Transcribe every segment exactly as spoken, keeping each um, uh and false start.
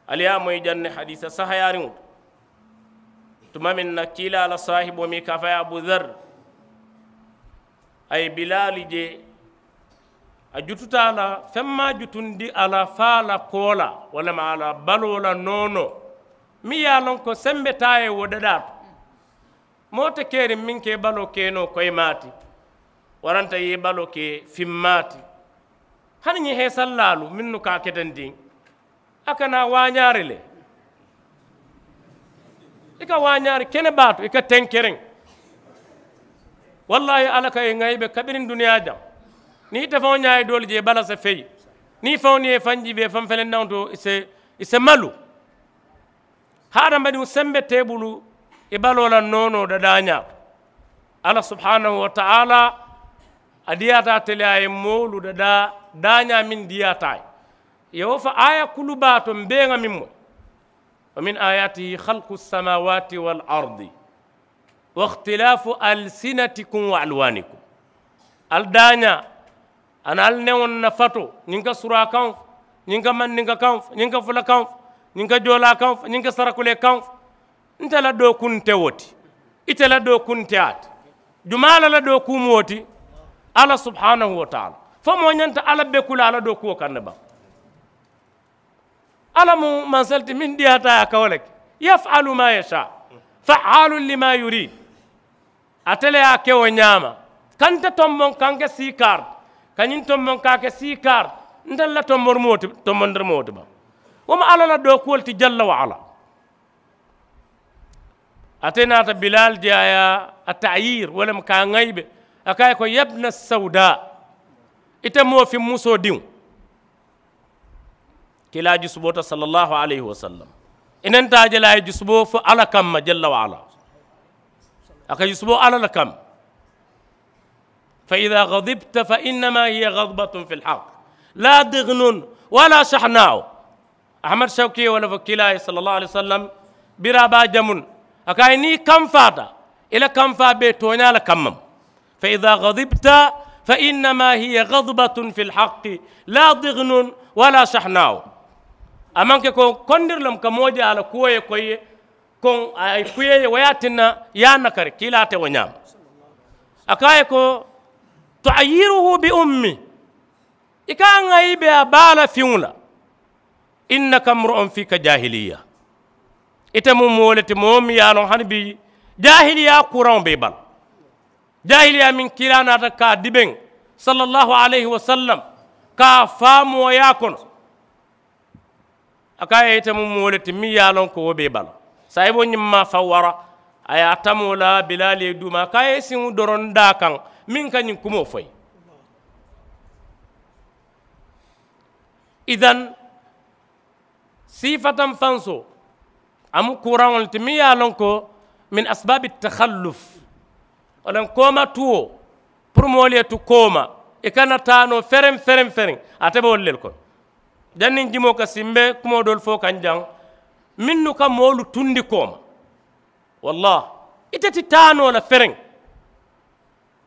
Ali ye a moyi janni hadiisa sahayaariŋo to tuma meŋ na kiilaa la saahiboo meŋ i ka a fo a ye abu dar a ye bilaali je. A jututa a la feŋ maŋ a jutundi a la fo a la koo la walla ma a la baloo la noonoo meŋ ye a loŋ ko sembe taa ye wo dadaa to. Moo te keeriŋ meŋ ka i baloo ke noo koyimaa ti waranta i ye i baloo ke fimmaa ti. Hani ñiŋ heesallaalu mennu ka a ketendiŋ a kana waañaari le. I ka waañaari kene baa to i ka tenkereŋ. Wallaahi alla ka i ŋayi be kabiriŋ duniyaa jaŋ. Niŋ i te faŋo ñaayi doolu je i bala se feyi niŋ i faŋo niŋ i ye i faŋ jiibee faŋ felendaŋo to i se malu. Hadamadiŋo sembe te i bulu i baloo la noonoo dadaañaa to. Alla subhaanahu wa taala a diyaata ate le a ye moolu dadaa daañaa meŋ diyaata a ye. Ye wo fo aaya kulu baa to mbeeŋa meŋ moyi. Wa min ayatihi halku samawaati wal ardi wa ikhtilaafu alsinatikum wa alwaanikum. Ali daañaa aniŋ ali newoŋ na fatoo ñiŋ ka suraa kaŋ fo ñiŋ ka mandinka kaŋ fo ñiŋ ka fula kaŋ fo ñiŋ ka joolaa kaŋ fo ñiŋ ka sarakulee kaŋ fo. Nte la dookuŋ nte wo ti ite la dookuŋ nte a ti. Jumaa la la dookuu mu wo ti. Alla subhaanahu wa taala fo moo ñanta alla beku la alla dookuwo kaŋ ne baŋ. Alla mu mansali ti meŋ diyaata a ye a ka wo le ke. Yafalu ma yasa faalu lima yurid. Ate le ye a ke wo ñaama ka nte tomboŋ ka n ke siikaari ka ñiŋ tomboŋ ka a ke siikaari. Nte la tombori mu wo ti tombondiri mu wo ti baŋ. Wo mu alla la dookuwo le ti jalla wa alla. Ate naata bilaali je a ye a tayir wo le mu ka a ŋayibe. A ka a ye ko yabna sawda ite moo fiŋ musoo diŋo. Kiilaa jusuboota sallallahu alayhi wasallam i nenta a je le a ye jusuboo fo alla kamma jalla wa alla. A ka jusuboo alla le kamma. Fa ida gadibta fa innama hiya gadibatun fi lhaq la dignun wala shahnau. Ahmad shawki ye wo le fo kiilaa ye sallallahu alayhi wasallam. Biraa baa jamun a ka a ye niŋ i kamfaata i la kamfaa bee tooñaa le kamma. Fa ida gadibta fa innama hiya gadibatun fi lhaq la dignun wala shahnau. A maŋ ke ko kondiri le mu ka moo je a la kuwo ye koyi ye. Koŋ a ye kuye ye wo ye a tinna ye a nakari kiilaa te wo ñaama. A ka a ye ko tuayiruhu bi ummi. I ka a ŋayi be a baa la fiŋo la. Innaka mru'un fika jahiliya. Ite mu moo le ti moo meŋ ye a loŋ hani bi jahiliya kuraŋo be i bala. Jahiliya meŋ kiilaa naata ka a dibeŋ sallallahu alayhi wasallam ka a faa mooyaa kono. A ka a ye ite mu moo le ti meŋ ye a loŋ ko wo be i bala. Saayiboo ñiŋ maa faŋ wara a ye a tamoo la bilaali ye duuma a ka a ye i siŋo doroŋ daa kaŋ meŋ ka ñiŋ kumoo fo i ye. Idan siifataŋ fansoo a mu kuuraŋo le ti meŋ ye a loŋ ko min asbaabi takhalluf. Wo le kooma tuwo puru moolu ye tu kooma i kana taa noo fereŋ fereŋ fereŋ. Ate be wolu le kono janniŋ jimoo ka simbe kumoo doolu fo kaŋ jaŋ mennu ka moolu tundi kooma. Wallaahi ite ti taa noo la fereŋ.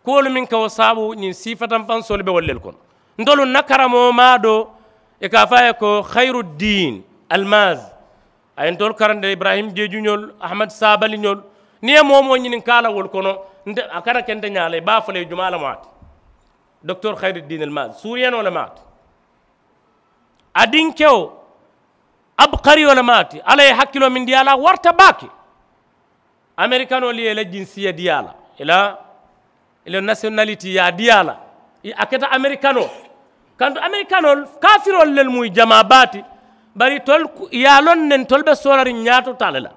Kuwolu meŋ ka wo saabu ñiŋ siifataŋ fansoolu be wolu le kono. Ntolu na karamoo maadoo i ka a fo a ye ko hayiruddiin almaazi. A ye ntolu karandi ibrahim jeejuñolu ahmad saabaliñolu. Niŋ i ye moo moo ñininkaa la wolu kono nte a kana ke nte ñaa la i be a fo la i jumaa le maati. Doktor hayiruddiin almaazi suuriyanoo le maati. A dinkewo abukariyo le maati alla ye hakkiloo meŋ dii a la a warata baake. Amerikanoolu ye i la jinsiya dii a la i la i la nasiyonaliti ye a dii a la. A keta amerikanoo kantu amerikanoolu kaafiroolu lelu mu i jamaa baa ti. Bari itolu ye a loŋ ne ntolu be soolariŋ ñaato taa le la.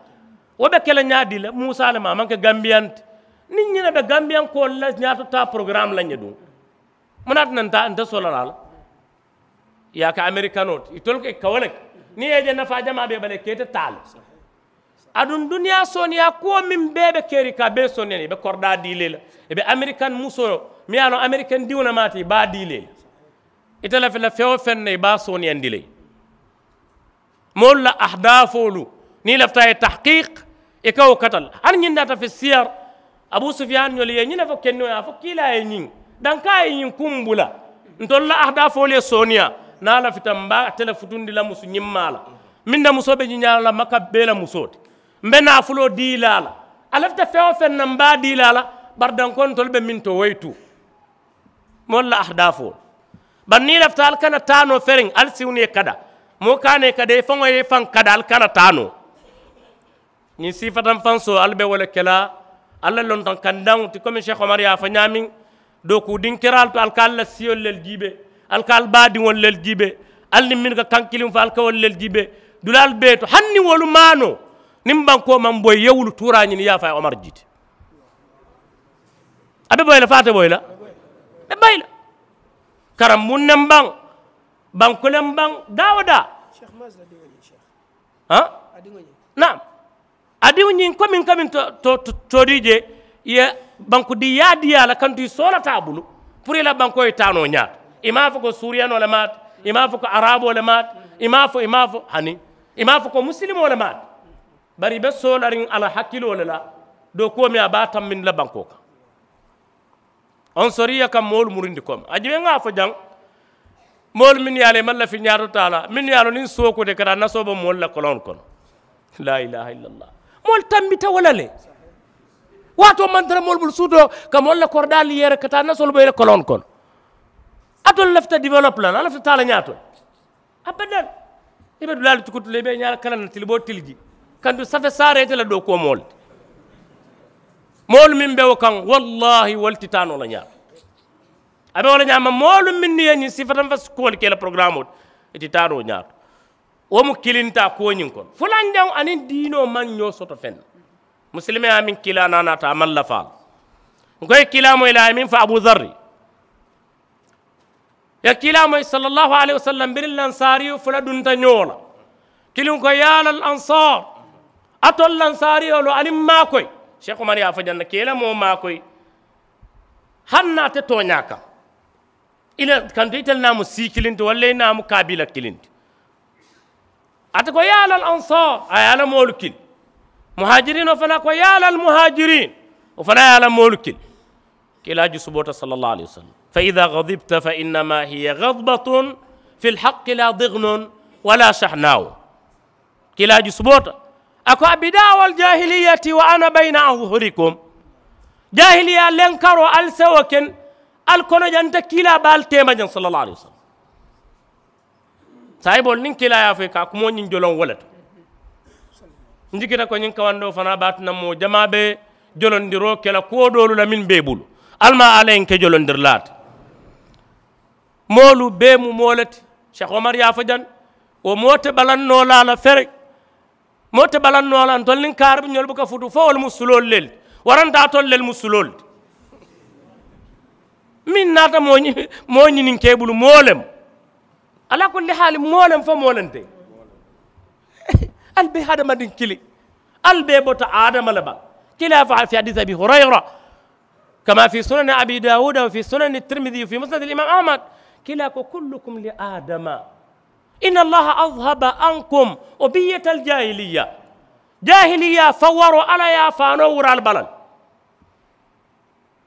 Wo be ke la ñaadii le muusa le ma a maŋ ke gambiyanti. Niŋ ñina be gambiyankoolu la ñaato taa porogaramu la ñe duŋ. Mu naata na nta nte soloraa la. I ye a ke amerikanoo ti itolu ka wo le ke niŋ i ye je nafaa jamaa bee bala i ka ite taa le. Aduŋ duniyaa sooneeyaa kuwo meŋ bee be keeriŋ ka a bee sooneeyaa i be koridaa dii le i la. I be amerikan musoo meŋ ye a loŋ amerikan diŋo le maati i be a dii le i la. Ite lafi la feŋ wo feŋ na i be a sooneeyandi le. Moolu la ahdaafoolu niŋ i lafita a ye tahkiiki i ka wo kata le. Hani ñiŋ naata fi siyar abu sufiyaani ñolu ye ñiŋ ne fo kenniŋo ye a fo kiilaa ye ñiŋ dankaa ye ñiŋ kuŋ bula. Ntolu la ahdaafoolu ye sooneeyaa niŋ a lafita mbe ate le futundi la musu ñiŋ maa la. Meŋ na musoo be ñiŋ ñaa la maka bee la musoo ti. M be naafuloo dii la a la. A lafita feŋ-wo-feŋ na m be a dii la a la. Bari dankontolu be meŋ to wo ye tuu. Moolu la ahdaafoo. Bari niŋ i lafita ali kana taa noo feriŋ ali siwnu ye kada. Moo ka a ne kada i faŋo ye i faŋ kada ali kana taa noo. Ñiŋ siifatanfansoo ali be wo le ke la. Ali la lontaŋ kandaŋo ti komi seeku omar ye a fo ñaameŋ. Dookuudinkiraalu to ali ka ali la siyolu lelu jiibee. Ali ka ali baadiŋolu lelu jiibee. Ali niŋ mennu ka kaŋ kiliŋ fo ali ka wolu lelu jiibee. Dulaalu bee to hani niŋ wolu maanoo niŋ bankoo maŋ boyi i ye wulu tuuraa ñini i ye a fo a ye omar jiiti. A be boyi la fo a te boyi la. Be boyi la. Karambuŋ ne mbaŋ. Banku le mbaŋ. Daa wo daa. Haa. Naam. A diŋo ñiŋ komiŋ komiŋ toodii je i ye banku diyaa diyaa la kantu i soolata a bulu. Puru i la bankoo ye taa noo ñaata i maŋ a fo ko suuriyanoo le maata. I maŋ a fo ko araaboo le maata. I maŋ a fo i maŋ a fo hani i maŋ a fo ko musilimoo le maata. Bari i be soolariŋ a la hakkiloo le la. Dookuwo meŋ a be a tambindi la bankoo kaŋ. Onsoriya ka moolu murundi kooma a jibe ŋa a fo jaŋ. Moolu mennu ye a la i maŋ lafi ñaato taa la mennu ye a loŋ niŋ sookuuta i ka taa nasoo bo moolu la koloŋolu kono. Laa ilaaha illallah. Moolu tambita wo la le. Waatoo maŋ tara moolu bulu suutoo ka moolu la koridaalu yeere ka taa nasoolu bo i la koloŋolu kono. Alitolu lafita develop la le a lafita taa la ñaato le. Abadan. I be dulaalu cukutu le i be i ñaa la kalaŋ na tili bo tili jii. Kantu safe saaree ite la dookuwo moolu ti. Moolu meŋ be wo kaŋ wallaahi wolu ti taa noo la ñaama. A be wo le ñaama moolu mennu ye ñiŋ sifatanfa kuwolu ke i la porogaramoo ti. I ti taa noo ñaato. Wo mu kilintaa kuwo ñiŋ kono fulanjaŋo aniŋ diinoo maŋ ñoo soto feŋ na. Musilimeyaa meŋ kiilaa naanaata a maŋ lafaa la. N ko i ye kiilaa moyi le a ye meŋ fo abuu zarri. Ye kiilaa moyi sallallaahu alayhi wasallam biriŋ lansaariyu fula dunta ñoo la. Kiliŋ ko yaa lal ansaar. Alitolu lansaariyoolu ali maakoyi. Seeku omar ye a fo janna ke i la moo maakoyi. Hani niŋ a te tooñaa kaŋ. I la kantu itelu naa mu sii kiliŋ ti walla i naa mu kaabiila kiliŋ ti. Ate ko yaa lal ansaar a ye a la moolu kili. Muhaajiriinoo fanaa ko yaa lal muhaajiriin. Wo fanaa ye a la moolu kili. Kiilaa jusuboota sallallaahu alayhi wasallam fa idaa gadibta fa innama hiya gadibatun fi lhaqqi laa dignun wala shahnaawu. Kiilaa jusuboota. A ko abidaa wal jaahiliyati wa ana bayna azuhurikum. Jaahiliyaa lenkaroo ali sewo ken. Ali kono janta kiilaa be ali teema jaŋ sallallaahu alayhi wasallam. Saayiboolu niŋ kiilaa ye a fo i ka a kumoo ñiŋ joloŋ wo le to. N jikita ko ñiŋ kawandoo fanaa be a tinna moo jamaa be jolondiroo ke la kuwo doolu la meŋ be i bulu. Ali maŋ a la ye n ke jolondirilaa ti. Moolu bee mu moo le ti. Seeku omar ye a fo jaŋ. Wo moo te balaŋ noo la a la fere. Moo te balaŋ noo la ntolu niŋ kaaribuñolu buka futu fo wolu mu suloolu le ti. Warantaatolu le mu suloolu ti. Meŋ naata moo moo ñininke i bulu moo lemu. Alaa kulli haali moo lemu fo moo lente. Ali be hadamadiŋ kili. Ali be bota adama le bala. Kila fa fi hadisi abi hurayra. Kama fi sunani abi dawuda wa fi sunani tirmidi wa fi musnadi limam ahmad. Kila ko kullukum li adama. Inna allaha adhaba ankum ubiyata aljahiliya. Jahiliya fawaro ala ya fano wural balal.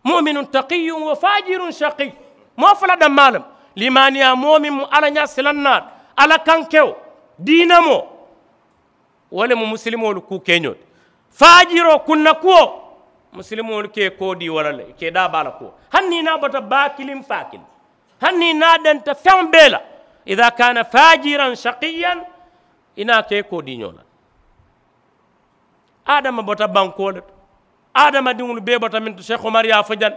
Muminun taqiyun wa fajirun shaqiy. Moo fula dammaa lem. Limaaniyaa moo meŋ mu alla ñaa silannaat alla kankewo diina moo. Wo le mu musilimoolu kuu keñoo ti. Faajiroo kunna kuwo. Musilimoolu ka i koo dii wo la le i ka i daa baa la kuwo. Hani niŋ i naa bota baa kiliŋ faa kiliŋ. Hani niŋ i naa denta feŋ bee la. Ida kana fajiran shaqiyan. I naa ka i koo dii ñoo la. Adama bota bankoo le to. Adamadiŋolu bee bota meŋ to seeku omar ye a fo jaŋ.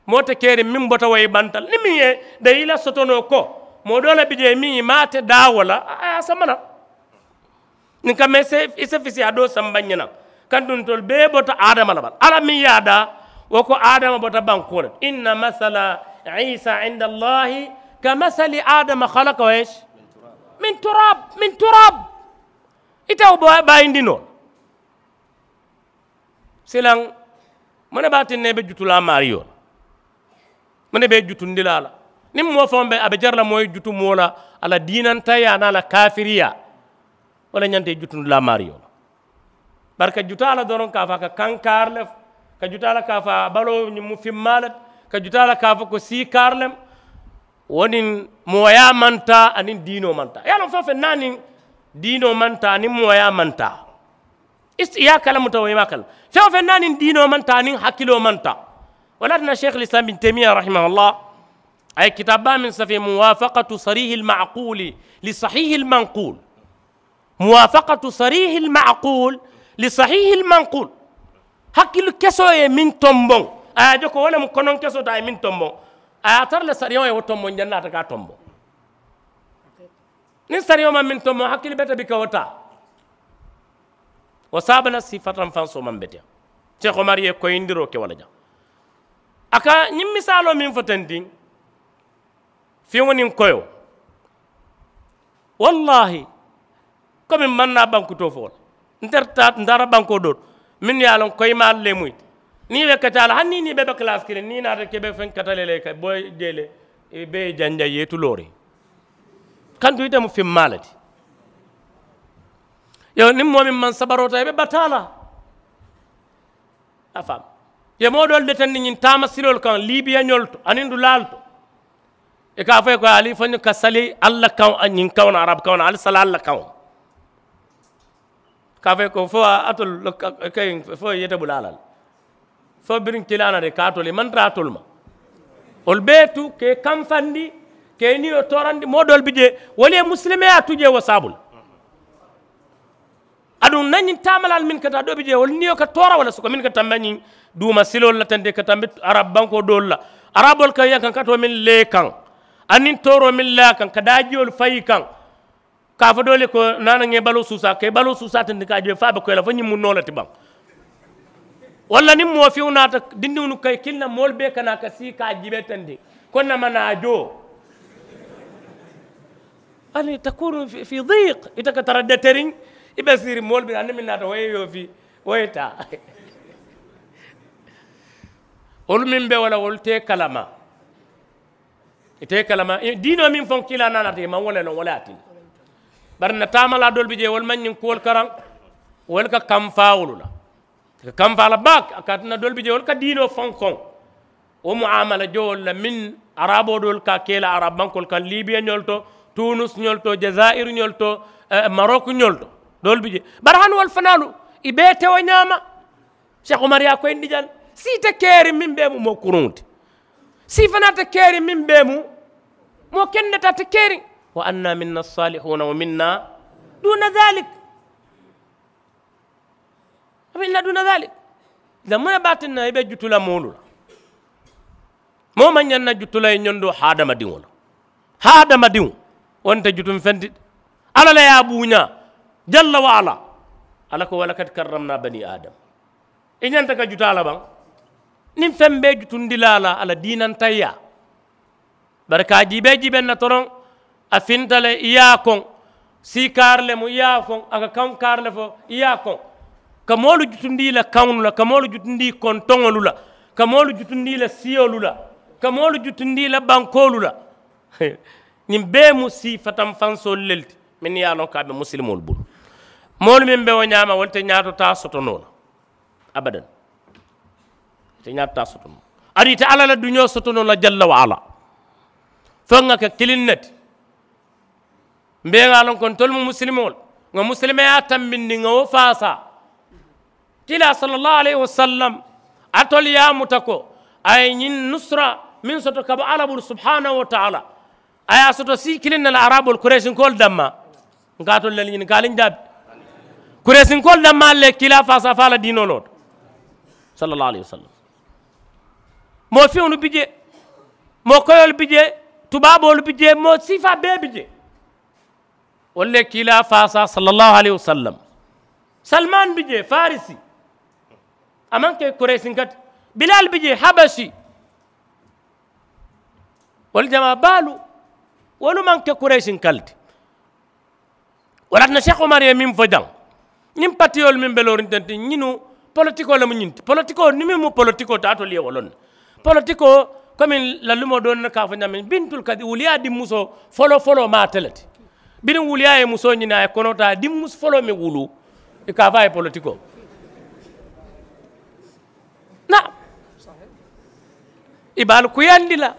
Moo te keriŋ meŋ bota wo ye i banta le niŋ meŋ ye dayi i la sotonoo ko. Moo doo le bi jee meŋ i maŋ a te daa wo la a ye a sama naŋ. Niŋ kamma i se fisiyaa doo samba ñinaŋ. Kantuŋ ntolu bee bota adama le bala alla meŋ ye a daa. Wo ko adama bota bankoo le to inna masala isa inda allahi ka masali adama halaka wa esi. Min turab min turab. Ite wo bayindi noo. Silaŋ. Mune be a tinna i be jutulaa maariyo la. Mune be i jutundi la a la. Niŋ moo faŋo be a be jari la moo ye jutu moo la a la diinantayaa niŋ a la kaafiriyaa. Wo le ñanta i jutundi la maariyo la. Bari ka jutaa la doroŋ ka a fo a ka kankaari le. Ka jutaa la ka a fo a baloo ñiŋ mu fimmaa le. Ka jutaa la ka a fo ko siikaari le. Wo niŋ mooyaa maŋ taa aniŋ diinoo maŋ taa i ye a loŋ feŋ feŋ niŋ a niŋ Diinoo maŋ taa niŋ mooyaa maŋ taa. I ye a kalamuta wo i maŋ a kala feŋ wo feŋ naa niŋ diinoo maŋ taa niŋ hakiloo maŋ taa. Wo le ye a tinna sheikh lislam bin temiya rahimahullah, a ye kitaabaa meŋ safi muwafakatu sarihil maquli li sahihil manqul. Muwafakatu sarihil maqul li sahihil manqul. Hakili kesoo ye meŋ tomboŋ, a ye a je ko wo le mu konoŋ kesoo ti a ye meŋ tomboŋ. A ye a tara le sariyaŋo ye wo tomboŋ jannaata ka a tomboŋ. Niŋ sariyaŋo maŋ meŋ tomboŋ hakili bete bi ka wo taa. Wo saaba la siifataŋ fansoo maŋ beteyaŋ. Seeku omar ye koyindiroo ke wo le jaŋ. A ka ñiŋ misaaloo meŋ fo teŋ diŋ, fiŋo niŋ koyoo. Wallaahi, komi maŋ naa bankutoo fo la, nte taata ntaata bankoo doo to mennu ye a loŋ koyimaalu le mu ite. Niŋ i be kacaa la hani niŋ i be be kalaasi kiliŋ niŋ i naata ke i be feŋ kata le la i ka bo jee le, i be i janjaŋ i ye i tuloori. Kantu ite mu fimmaa le ti. Yo niŋ moo meŋ maŋ sabaroo taa i be bataa la. A faamu. I ye moo doolu detendi ñiŋ taama siloolu kaŋ liibiyañolu to aniŋ dulaalu to. I ka a fo i ye ko ali fo ñiŋ ka sali alla kaŋo ñiŋ kaŋo na arabu kaŋo na ali sali alla kaŋo. Ka a fo i ye ko fo atolu kayi fo i yete bula a la le. Fo biriŋ kilaana de ka atolu i maŋ tara atolu ma. Wolu bee tu ka i kamfandi ka i niyo toorandi moo doolu bi jee. Wolu ye musilimeyaa tu jee wo saabulu. Aduŋ na ñiŋ taamalaalu mennu ka taa doo bi jee wolu niyo ka toora walla soko mennu ka tambi ñiŋ duuma siloolu la teŋ de ka tambi arabu bankoo doolu la. Araboolu ka yankankatoo mennu le kaŋ aniŋ tooroo mennu le a kaŋ ka daajiyolu fayi kaŋ. Ka a fo doolu ye ko naana ŋa i baloo suusaa ka i baloo suusaa teŋ de ka a je fo a be koyi la fo ñiŋ mu noo le ti baŋ. Walla niŋ moo fiŋo naata dindiŋolu ka i kiliŋ na moolu bee ka naa ka sii ka a jiibee teŋ de ko nama naa joo. Ani takunu fi diiq ite ka tara deteriŋ. I be siiriŋ moolu be aniŋ meŋ naata wo ye yoofi wo ye taa. Wolu meŋ be wo la wolu te i kalama. I te i kalama diinoo meŋ foŋ kiilaa naanaata i maŋ wo le loŋ wo le ye a tinna. Bari n na taamalaa doolu bi jee wolu maŋ ñiŋ kuwolu karaŋ. Wolu ka kamfaa wolu la. I ka kamfaa la baake a ka a tinna doolu bi jee wolu ka diinoo foŋ koŋ. Wo muamala jowolu la meŋ araboo doolu ka a ke i la arabu bankoolu kaŋ liibiyañolu to, tuunusiñolu to, jazaayiriñolu to, marokuñolu to. Doolu bi jee bari hani wolu fanaalu i bee te wo ñaama. Seeku omar ye a koyindi jaŋ. Sii te keeriŋ meŋ bee mu moo kuruŋo ti. Sii fanaa te keeriŋ meŋ bee mu moo kendeta te keeriŋ. Wa anna minna salihuuna wa minna duuna dalik. Wa minna duuna dalik. Zamuna baatinna i be jutu la moolu la. Moo maŋ ñaŋ na jutu la ye ñondoo hadamadiŋo la. Hadamadiŋo wo nte jutuŋ feŋ ti. Alla le ye a buuñaa jalla wa ala. Alla ko walakad karramna bani adam. I ñanta ka jutaa la baŋ. Niŋ feŋ be jutundi la a la a la diinantayyaa. Bari ka a jiibee jiibeŋ na toroŋ. A finta le i ye a koŋ. Sii kaari le mu i ye a koŋ a ka kaŋ kaari le fo i ye a koŋ. Ka moolu jutundi i la kaŋolu la ka moolu jutundi i kontoŋolu la. Ka moolu jutundi i la siyolu la. Ka moolu jutundi i la bankoolu la. Ñiŋ bee mu sii fatanfansoolu le ti mennu ye a loŋ ka a be musilimoolu bulu. Moolu meŋ be wo ñaama wolu te ñaato taa soto noo la. Abadan. Ite ñaata taa soto noo. Aduŋ ite alla la duñoo soto noo la jalla wa ala. Fo ŋa ke kiliŋ ne ti. Mbe ŋa a loŋ ko ntolu mu musilimoo le. Ŋa musilimeyaa tambindi ŋa wo faasaa. Kiilaa sala allahu alayhi wasallam. Atolu ye a muta ko a ye ñiŋ nusura meŋ soto ka bo alla bulu subhanahu wa taala. A ye a soto sii kiliŋ ne la araboolu kuresinkoolu dammaa. N ka atolu le ñini ka a liŋ jaabi. Kuresinkoolu dammaa le kiilaa faasaa faa la diinoo loo to. Sala allahu alayhi wasallam. Moo fiŋolu bi jee. Moo koyoolu bi jee. Tubaaboolu bi jee moo siifaa bee bi jee. Wolu le kiilaa faasaa sala allahu alayhi wasallam. Salmaani bi jee farisi. A maŋ ke kuresinka ti. Bilaali bi jee habasi. Wolu jamaa baalu. Wolu maŋ ke kuresinka le ti. Wo laata na seeku omar ye meŋ fo jaŋ. Ñiŋ patiyoolu meŋ be looriŋ teŋ ti ñinu politikoo le mu ñiŋ ti politikoo niŋ meŋ mu politikoo ti atolu ye wo loŋ ne. Politikoo komi lalumoo doolu ne ka a fo ñaameŋ bintul kadi wuliyaa dimmusoo foloo foloo maŋ ate le ti. Biriŋ wuliyaa ye musoo ñini a ye konoo taa dimmusu foloo meŋ wuluu. I ka a fo a ye politikoo na. I be ali kuyandi la.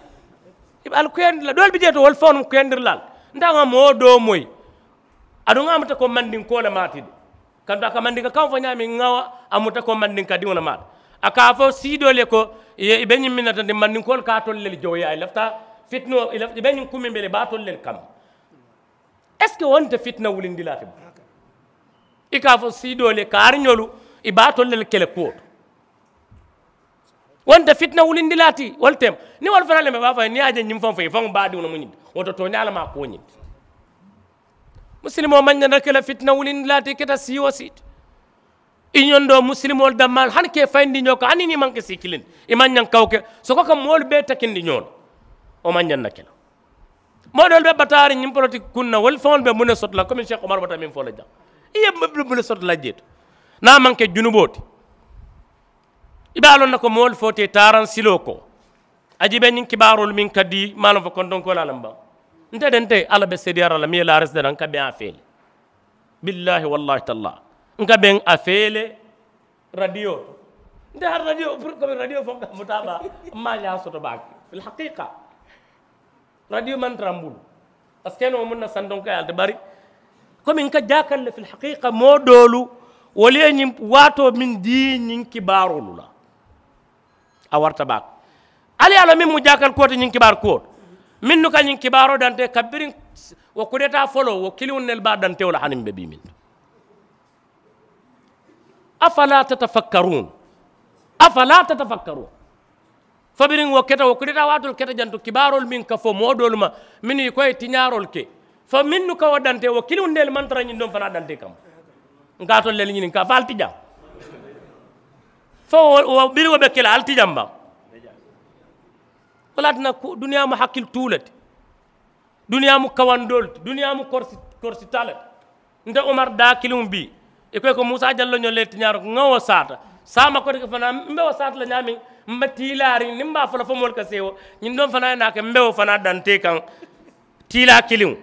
I be ali kuyandi la doolu bi jee to wolu faŋolu mu kuyandiri la. Nte a ŋa moo doo moyi. Aduŋ a muta ko mandinko le maati de, kantu a ka mandinka kaŋo fo ñaameŋ ŋa a muta ko mandinka diŋo le maati. A ka a fo siidoolu ye ko i be ñiŋ miŋ na tanti mandinkoolu ka a tolu le jooyaa i lafita fitinoo i be ñiŋ kumiŋ be le i be a tolu le kamma. Est ce que wo nte fitina wulindilaa ti? I ka a fo siidoolu ye kaariñolu i be a tolu le kele kuwo to. Wo nte fitina wulindilaa ti wo le tema. Niŋ wolu fanaa le ma i be a fo a ye niŋ i ye a je ñiŋ faŋo fo i faŋo baadiŋo le mu ñiŋ ti. Wo to tooñaa le maa kuwo ñiŋ ti. Musilimoo maŋ ñanta ke la fitina wulindilaa ti i keta sii wo sii ti. I ñondoo musilimoolu dammaalu hani ka i fayindi ñoo kaŋ hani niŋ i maŋ ke sii kiliŋ ti i maŋ ñaŋ kawo ke soko ka moolu bee takindi ñoo la. Wo maŋ ñaŋ na ke la. Moo doolu be bataariŋ ñiŋ politiki kuŋ na wolu faŋolu be muŋ ne soto la komi seeku umaru bata meŋ fo la jaŋ i ye muŋ ne soto la jee to. Niŋ a maŋ ke junuboo ti i be a loŋ na ko moolu fo te taaraŋ siloo ko. A jiibee ñiŋ kibaaroolu meŋ ka dii maŋ a loŋ fo kontonkoolaa le mbaŋ. Nte de nte alla be seediyaara la meŋ ye laaresi de la n ka beŋ a feele. Billaahi wallaahi tallaahi n ka beŋ a feele. Radiyo to nte hari radiyo pour que radiyo fo ka muta a baa. M maŋ a ñaa soto baake fil haqiiqa. Radiyo maŋ tara m bulu. Parce que noo muŋ na santonkayaali te bari komi n ka jaakal le fil haqiiqa moo doolu wolu ye ñiŋ waatoo meŋ dii ñiŋ kibaaroolu la. A warata baake. Ali ye a loŋ meŋ mu jaakal kuwo ti ñiŋ kibaari kuwo to mennu ka ñiŋ kibaaroo dantee kabiriŋ wo kudetaa foloo wo kiliŋo nelu be a dantewo la hani m be bii meŋ to. Afalaa tatafakkaruun? Afalaa tatafakkaruun? Fo biriŋ wo keta wo kudetaa waatoolu keta janto kibaaroolu meŋ ka fo moo doolu ma mennu i ko ye tiñaaroolu ke fo mennu ka wo dantee wo kiliŋo nelu maŋ tara ñiŋ doŋ fanaa dantee kamma. N ka a tolu le ñiniŋ ka fo ali ti jaŋ. Fo wo biriŋo be ke la ali ti jaŋ baŋ. Wo le ye a tinna duniyaa mu hakkili tuu le ti. Duniyaa mu kawandoolu ti duniyaa mu korisita le ti. Nte umar daa kiliŋo bii i ko i ko muusa jalloñoo le ti ñaaro ŋa wo saata. Saama koteke fanaa m be wo saata le ñaameŋ m be tiilaariŋ niŋ m be a fo la fo moolu ka seewo ñiŋ doŋ fanaa ye naa ke m be wo fanaa dantee kaŋ. Tiilaa kiliŋo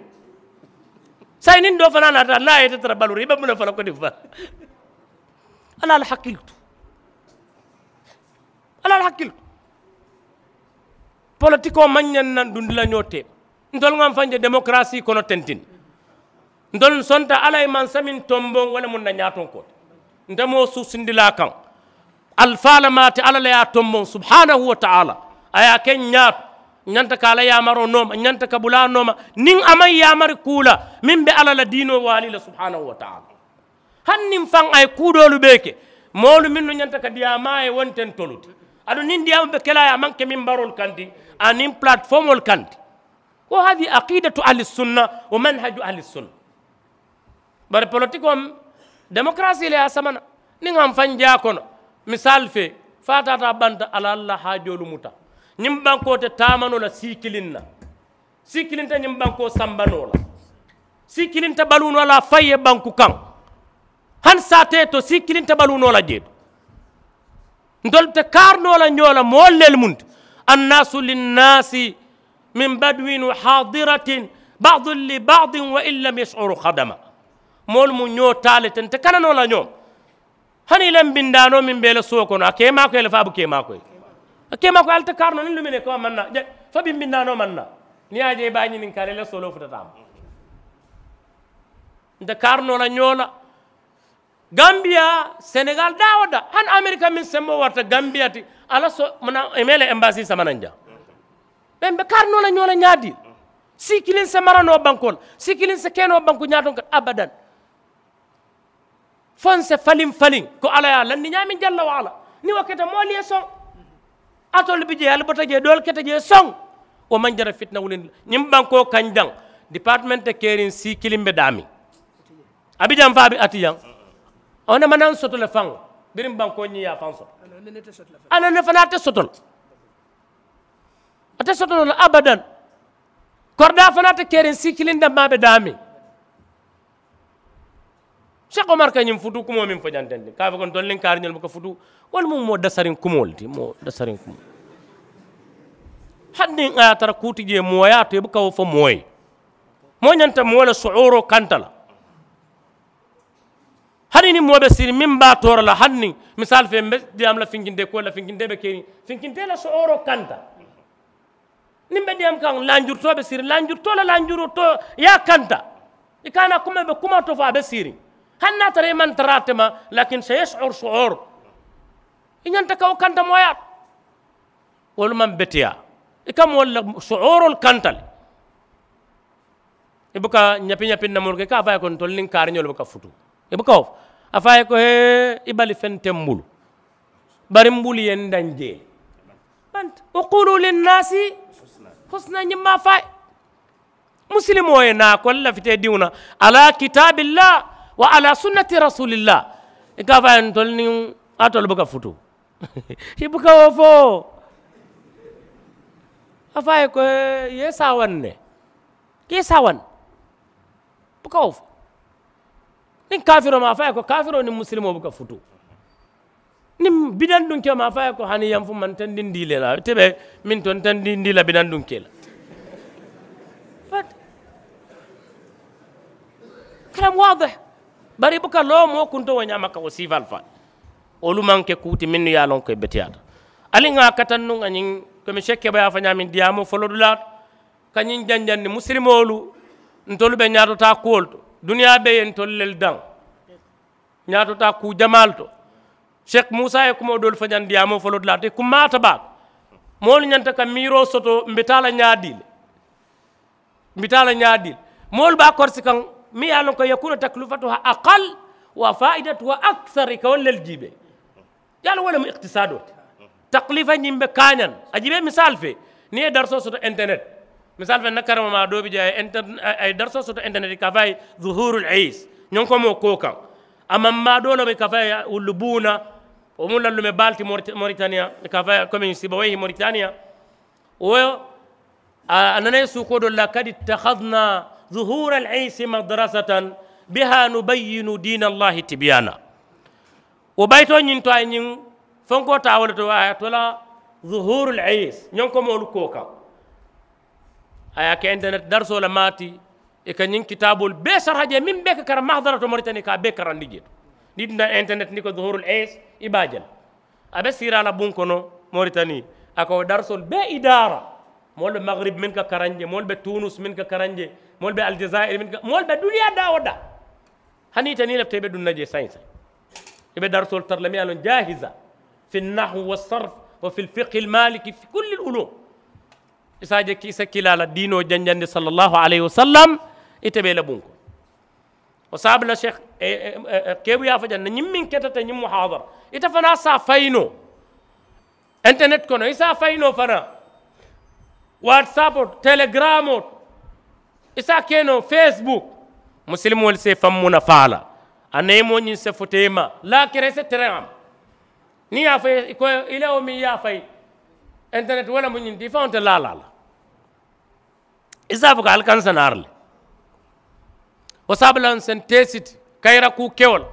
saayiŋ niŋ doo fanaa naata niŋ a ye ite tara baluuri i be muŋ ne fo la kodi fa. Alla la hakkili tu. Alla la hakkili tu. Politikoo maŋ ñaŋ naŋ dundi la ñoo teema. Ntolu ŋa m faŋ je demokarasii kono tentin. Ntolu sonta alla ye mansa meŋ tomboŋ wo le mu n na ñaatonkoo ti. Nte moo suusindilaa kaŋ. Alifaa le maati alla le ye a tomboŋ subhaanahu wa taala. A ye a ke ñaato ñanta ka a la yaamaroo nooma ñanta ka bulaa nooma. Niŋ a maŋ yaamari kuu la meŋ be alla la diinoo waali la subhaanahu wa taala. Hani niŋ faŋ a ye kuu doolu bee ke moolu mennu ñanta ka diyaamaa ye wo nte ntolu ti. Aduŋ niŋ diyaama be ke la a ye a maŋ ke mimbaroolu kaŋ ti aniŋ palatifoomoolu kaŋ ti. Wo hadi aqidatu ahli sunna wo manhaju ahli sunna. Bari politikoo demokarasii le ye a samana. Niŋ a m faŋ jaa kono misaali fee fo a taata a banta a la alla haajoolu muta. Ñiŋ bankoo te taama noo la sii kiliŋ na. Sii kiliŋ te ñiŋ bankoo samba noo la. Sii kiliŋ te baluu noo la a faŋ ye banku kaŋ. Hani saatee to sii kiliŋ te baluu noo la jee to. Ntolu te kaari noo la ñoo la moolu lelu munti. Annaasu linnaasi min baduwin wa haadiratin baadun li baadin wa in lam yashuru hadama. Moolu mu ñoo taa le te nte kana noo la ñoo. Hani i la mbindaanoo meŋ be i la suwo kono a ke i maakoyi le fo a buka i maakoyi. A ke i maakoyi ali te kaari noo niŋ lumine ko a maŋ naa fo bi mbindaanoo maŋ naa. Niŋ i ye a je i be a ñininkaa la i la sooloo futata a ma. Nte kaari noo la ñoo la. Gambiya senegaali daawo da hani amerika meŋ semboo warata gambiya ti. Alla so muna i mee la embaasii samanaŋ jaa. Be mbe kaari noo la ñoo la ñaadii. Sii kiliŋ se mara noo bankoo la sii kiliŋ se ke noo banku ñaatoŋ ka abadan. Fo n se faliŋ faliŋ ko alla ye a landi ñaameŋ jalla wa alla. Niŋ wo keta moolu ye soŋ. Alitolu bi jee ali bota jee doolu keta jee soŋ. Wo maŋ jara fitina wulindi la ñiŋ bankoo kaŋ jaŋ. Dipaatimenti keeriŋ sii kiliŋ be daamiŋ. A bi jaŋ fo a be ati jaŋ. A wo ne manaŋ soto le faŋ. Biriŋ bankoo ñiŋ ye a faŋ soto. A ne ne fanaa te soto le. A te soto noo la abadan. Koridaa fanaa te keeriŋ sii kiliŋ dammaa be daamiŋ. Seku omar ka ñiŋ futuu kumoo meŋ fo janteŋ ti ka a fo ko ntolu niŋ kaariñolu buka futuu. Wolu mu moo dasariŋ kumoo le ti moo dasariŋ kumoo. Hani niŋ a ye a tara kuu ti jee moo ye a to i buka wo fo moo ye. Moo ñanta moo le suhuuroo kanta la. Hani niŋ moo be siriŋ meŋ be a toora la hani niŋ misaali fee mbe diyaamu la finkintee kuwo la finkintee be keriŋ finkintee la sooroo kanta. Niŋ be diyaamu kaŋ lanjurutoo be siriŋ lanjurutoo la lanjurutoo ye a kanta. I ka a naa kuma be kuma to fo a be siiriŋ. Hani niŋ a tara i maŋ tara a tema. Lakin se yesur suur i ñanta ka wo kanta mooyaa to. Wolu maŋ beteyaa i ka moolu la suurolu kanta le. I buka ñapi ñapi namoolu ke i ka a fo a ye ko ntolu niŋ kaariñolu buka futu. I buka wo fo a fo a ye ko hee i bali feŋ te m bulu. Bari m bulu ye n daŋ jee le. Banta wa qulu linnaasi husna ñiŋ maa fo a ye. Musilimoo ye naa ko lafitee diŋo na ala kitaabillah wa ala sunnati rasulillah. I ka a fo a ye ntolu niŋ a tolu buka futu. I buka wo fo. A fo a ye ko ye saawaŋ ne. Ye saawaŋ. Buka wo fo. Niŋ kaafiroo maŋ a fo a ye ko kaafiroo niŋ musilimoo buka futu. Niŋ bidaŋ dunkee maŋ a fo a ye ko hani yanfu maŋ tendindi le la ite be meŋ to n tendindi la bidaŋ dunkee la. Kalam waade. Bari i buka loo moo kunto wo ñaama ka wo siifaalu faa. Wolu maŋ ke kuu ti mennu ye a loŋ ko i beteyaata. Ali ŋa a katannu ŋa ñiŋ komi sekkeba ye a fo ñaameŋ diyaamoo folodulaa to. Ka ñiŋ janjandi musilimoolu ntolu be ñaatotaa kuwolu to. Duniyaa be ye ntolu lelu daŋ. Ñaatotaa kuu jamaalu to. Seku muusa ye kumoo doolu fo ñaŋ diyaamoo folodulaa to i kummaata baake. Moolu ñanta ka miiroo soto mbe taa la ñaadii le. Mbe taa la ñaadii le. Moolu be a korisi kaŋ meŋ ye a loŋ ko yakunu taklifatuha aqal wa faidatuha aksar i ka wolu lelu jiibee. Ye a loŋ wo le mu ikitisaadoo ti. Takilifa ñiŋ be kaañaŋ a jiibee misaalu fee. Niŋ i ye darisoo soto internet misaalu fee n na karama maa doo bi jee a ye darisoo soto internet i ka a fo a ye zuhurul iis ñoŋ ko moo koo kaŋ. A maŋ maa doo le mu i ka a fo a ye wullu buuna. Wo mu lallume baalu ti moritaniya i ka a fo a ye komi sibaweyi moritaniya. Wo a nana ye suukoo doolu la kad ittakhadna zuhura al iisi madrasatan biha nubayyinu diina allahi tibyana. Wo bayitoo ñiŋ to a ye ñiŋ fonkoo taa wo le to a ye a tola zuhuru al iisi ñoŋ ko moolu koo kaŋ. A ye a ke internet darisoo le maati. I ka ñiŋ kitaaboolu bee saraha jee meŋ bee ka karaŋ mahadara to moritani i ka a bee karandi jee to. Niŋ i dunta internet niŋ i ko zuhuru al iisi i be a je la. A be siiraa la buŋ kono moritani. A ka wo darisoolu bee idaara. Moolu be magiribi mennu ka karaŋ jee moolu be tunus mennu ka karaŋ jee moolu be alijazayiri mennu ka moolu be duniyaa daa wo daa. Hani ite niŋ i lafita i be duŋ na jee saayiŋ saayiŋ i be darisoolu tara la meŋ ye a loŋ jaahiza fi nnahu wa sarf wa fi lfikhi lmaliki fi kulli lulum. I se a je i se kiilaa la diinoo janjandi sallallaahu alayhi wa sallam. Ite be i la buŋ kono. Wo saabu la seeku keebu ye a fo jaŋ na ñiŋ meŋ keta te ñiŋ muhaadara ite fanaa se a fayi noo. Internet kono i se a fayi noo fanaa. Watsapoo to telegiramoo to i se a ke noo facebook. Musilimoolu se i faŋ muna faa la. A neemoo ñiŋ se futa i ma laakira i se tereŋ a ma. Niŋ i ye a fayi i ko i la wo meŋ i ye a fayi. Internet wo le mu ñiŋ ti i faŋo te laalaa la. I se a fo ko ali kaŋ sanaari le. Wo saabu la ŋa se n teesiti kayira kuu kewo la.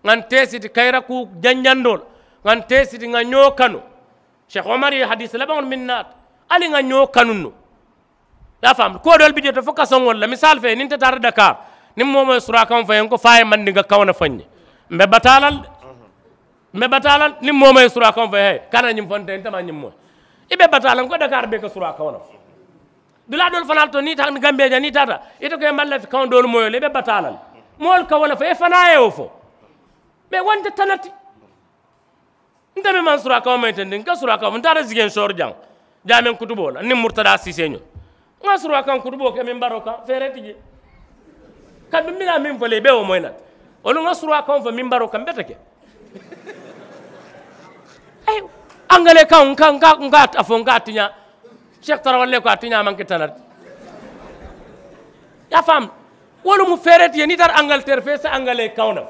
Ŋa n teesiti kayira kuu janjandoo la. Ŋa n teesiti ŋa ñoo kanu. Seeku omari ye hadiisi labaŋolu meŋ naata ali ŋa ñoo kanu no. I ye a faamu kuwo doolu bi jee to fo kasoŋolu la misaalu fee niŋ nte taata dakaari niŋ moo moo ye suraakaŋo fo ye n ko fo a ye mandinka kaŋo ne fo n ye. Mbe bataa la le de. Mbe bataa la le niŋ moo moo ye suraakaŋo fo ye he kana ñiŋ fo nte nte maa ñiŋ moo. I be bataa la n ko dakaari bee ka suraakaŋo ne fo. Dulaa doolu fanaa le to niŋ i taata gambiya jaŋ niŋ i taata ite ko i ye maŋ lafi kaŋo doolu moo ye le i be bataa la le. Moolu ka wo le fo i fanaa ye wo fo. Mee wo nte tana ti. Nte meŋ maŋ suraakaŋo maŋ ite ndi n ka suraakaŋo fo n taata zigensoori jaŋ. Jaameŋ kutuboo la niŋ murtadaa siisee ñoo n ŋa suraakaŋ kutuboo ke mimbaroo kaŋ feeree ti jee. Kaduŋ mbiraa meŋ fo le i be wo moyi na ti. Wolu ŋa suraakaŋo fo mimbaroo kaŋ bete ke. Angalee kaŋo n ka a fo n ka a tiñaa. Seeku tarawalle ko a tiñaa maŋ ke tana ti. I ye a faamu. Wolu mu feeree ti jee niŋ i taata angaliteeri fo i si angalee kaŋo na.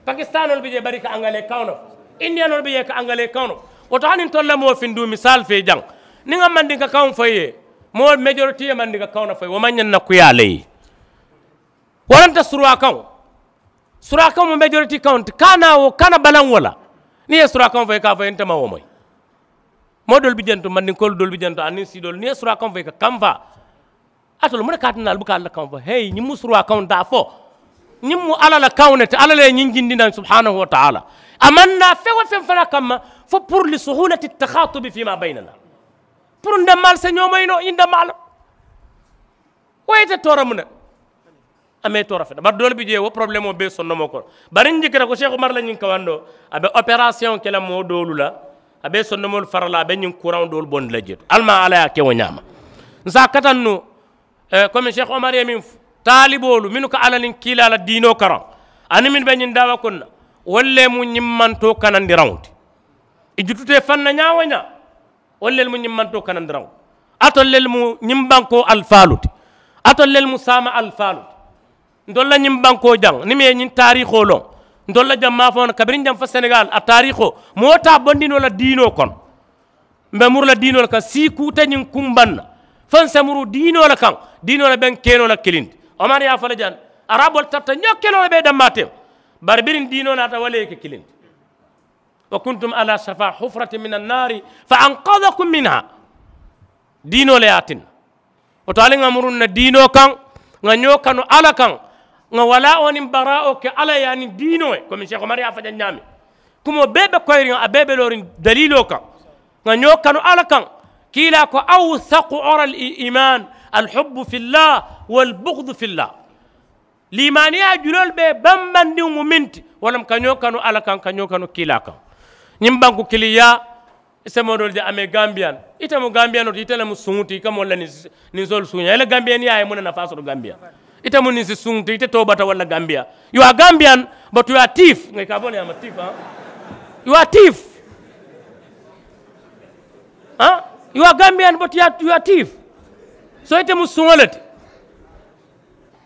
Pakistanoolu bi jee bari i ka angalee kaŋo na fo. Indiyanoolu bi jee i ka angalee kaŋo na fo. Wo to hani ntolu la moo finduu misaalu fee jaŋ. Niŋ ŋa mandinka kaŋo fo i ye moo majoriti ye mandinka kaŋo na fo i ye wo maŋ ñaŋ na kuyaa le i ye. Wo le nte suruwaa kaŋo. Suruwaa kaŋo mu majoriti kaŋo ti kaana wo kana balaŋ wo la. Niŋ i ye suruwaa kaŋo fo i ka a fo i ye nte maŋ wo moyi. Moo doolu bi jee nto mandinkoolu doolu bi jee nto aniŋ siidoolu niŋ i ye suruwaa kaŋo fo i ka kamfaa. Ate le mu ne ka a tinna ali buka alla kaŋo fo heyi ñiŋ mu suruwaa kaŋo daa fo. Ñiŋ mu alla la kaŋo ne ti alla le ye ñiŋ jindi naŋ subhanahu wa taala. A maŋ naa feŋ wo feŋ fanaa kamma fo puru li suhulati takhatubi fima baynana. Puru n demmaalu se ñoomoyi noo ñiŋ demmaalu. Wo ye ite toora mu ne. A maŋ i toora feta bari doolu bi jee wo porobulemoo bee sondomoo kono. Bari n jikita ko seeku mari la ñiŋ kawandoo a be operasiyoŋo ke la moo doolu la. A be sondomoolu fara la a be ñiŋ kuraŋo doolu bondi la jee to ali maŋ alla ye a ke wo ñaama. N se a katannu komi seeku omari ye meŋ taaliboolu mennu ka alla niŋ kiilaa la diinoo karaŋ aniŋ mennu be ñiŋ daawa kono na wolu le mu ñiŋ mantoo kanandiraŋo ti. I jututa i faŋ na ñaa wo ñaa. Wolu lelu mu ñiŋ mantoo kanandiraŋo. Alitolu lelu mu ñiŋ bankoo alifaalu ti. Alitolu lelu mu saama alifaalu ti. Ntolu la ñiŋ bankoo jaŋ niŋ mu ye ñiŋ taariikoo loŋ ntolu la jaŋ maafaŋo na kabiriŋ jaŋ fo senegaali a taariikoo moo te a bondi noo la diinoo kono. M̀ be muru la diinoo le kaŋ sii kuu te ñiŋ kumbaŋ na. Fo n se muru diinoo le kaŋ diinoo le be n keenoo la kiliŋ ti. Omari ye a fo le jaŋ araboolu tarata ñoo keloo le be i dammaa teŋ. Bari biriŋ diinoo naata wo le ye ke kiliŋ ti. Wa kuntum ala safa hufrati min annaari fa ankadakum minha. Diinoo le ye a tinna. Wo to ali ŋa muruŋ na diinoo kaŋ ŋa ñoo kanu alla kaŋ. Ŋa walaa wo niŋ baraa wo ke alla ye aniŋ diinoo ye komi seeku omari ye a fo jaŋ ñaameŋ. Kumoo bee be koyiriŋ a bee be looriŋ daliiloo kaŋ. Ŋa ñoo kanu alla kaŋ. Kiilaa ko awsaku ora al iman alhubbu fi llah walbugdu fi llah. Liimaaniyaa juloolu be bambandiŋo mu meŋ ti wo le mu ka ñoo kanu alla kaŋ ka ñoo kanu kiilaa kaŋ. Ñiŋ banku kiliŋ yaa i se moo doolu je a mee gambiyan. Ite mu gambiyanoo ti ite le mu suŋo ti i ka moolu la ninsoolu suuñaa i la gambiyaniyaa ye muŋ ne nafaa soto gambiya? Ite mu ninsi suŋo ti ite toobata walla gambiya? You are gambiyan but you are tiif nga i ka a bo le ye a ma tiif. You are tiif. You are gambiyan but you are tiif. So ite mu suŋo le ti.